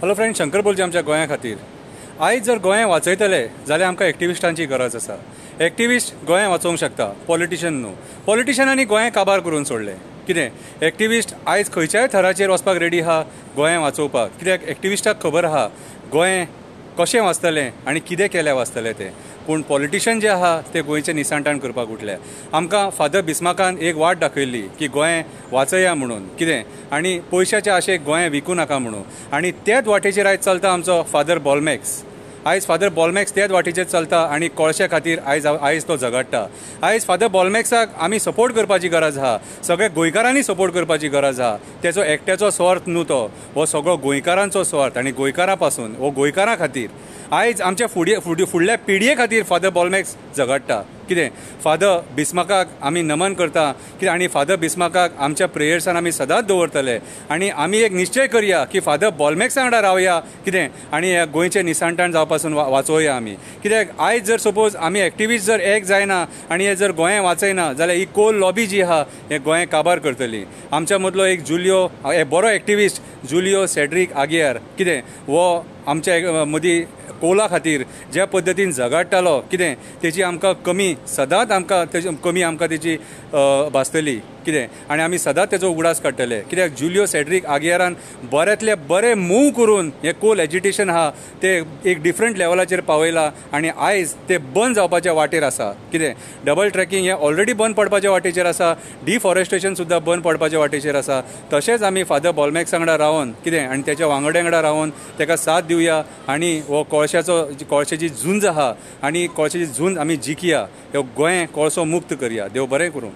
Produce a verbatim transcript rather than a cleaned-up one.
Hello friend, Shankar बोलचे आमच्या गोंया खातीर. आयज जर गोंय वाचयतले जाल्यार आमकां एक्टिविस्टांची गरज आसा. एक्टिविस्ट गोंय वाचोवंक शकता, पॉलिटिशन न्हू. पॉलिटिशनांनी गोंय काबार करून सोडलें. कितें एक्टिविस्ट आयज खंयच्याय थराचेर वचपाक रेडी आहा गोंय वाचोवपाक. कित्याक एक्टिविस्टाक खबर आहा गोंय कशें वाचतलें आनी कितें केल्यार वाचतलें तें. पूण पॉलिटिशन जे आहा ते गोंयचें निसांटाण करपाक उठले. आमकां फादर बिस्माकान एक वाट दाखयल्ली की गोंय वाचया म्हणून कितें, आनी पयशाच्या आशेक गोंय विकूं नाका म्हणून. आनी त्याच वाटेचेर आयज चलता आमचो फादर बॉलमॅक्स. आयज फादर बॉलमॅक्स त्याच वाटेचेर चलता आनी कोळशे खातीर आयज आयज तो झगडटा. आयज फादर बॉलमॅक्साक आमी सपोर्ट करपाची गरज आहा, सगळ्या गोंयकारांनी सपोर्ट करपाची गरज आहा. तेचो एकट्याचो स्वार्थ न्हू तो, हो सगळो गोंयकारांचो स्वार्थ आनी गोंयकारां पासून हो गोंयकारां खातीर आयज आमच्या फुडें फुडें फुडल्या पिळगे खातीर फादर बॉलमॅक्स झगडटा. कितें फादर बिस्माकाक आमी नमन करता कितें, आनी फादर बिस्माकाक आमच्या प्रेयर्सान आमी सदांच दवरतले. आनी आमी एक निश्चय करया की फादर बॉलमॅक्सा वांगडा रावया कितें, आनी ह्या गोंयचें निसांटाण जावपासून वाचोवया आमी. कित्याक आयज जर सपोज आमी एक्टिविस्ट जर एक जायना आनी हे जर गोंय वाचयना जाल्यार ही कोल लॉबी जी आहा हे गोंय काबार करतली. आमच्या मदलो एक जुलियो, एक बरो एक्टिविस्ट जुलियो सेड्रीक आगियार कितें, हो आमच्या मदीं कोला खातीर ज्या पद्दतीन झगडटालो कितें, तेजी आमकां कमी सदांच आमकां तेजी कमी आमकां तेजी भासतली कितें, आनी आमी सदांच तेजो उगडास काडटले. कित्याक जुलियो सेड्रीक आगियारान बऱ्यांतले बरें मूव करून हें कोल एजिटेशन आहा तें एक डिफरंट लेवलाचेर पावयलां आनी आयज तें बंद जावपाच्या वाटेर आसा. कितें डबल ट्रॅकिंग हें ऑलरेडी बंद पडपाच्या वाटेचेर आसा, डिफॉरेस्टेशन सुद्दां बंद पडपाच्या वाटेचेर आसा. तशेंच आमी फादर बॉलमॅक्स वांगडा रावन कितें आनी तेच्या वांगड्या वांगडा रावन तेका साथ दिवया आनी हो कोळशाचो कोळशाची झुंज आहा आनी कोळशाची झुंज आमी जिखया, ह्यो गोंय कोळसो मुक्त करया. देव बरें करूं.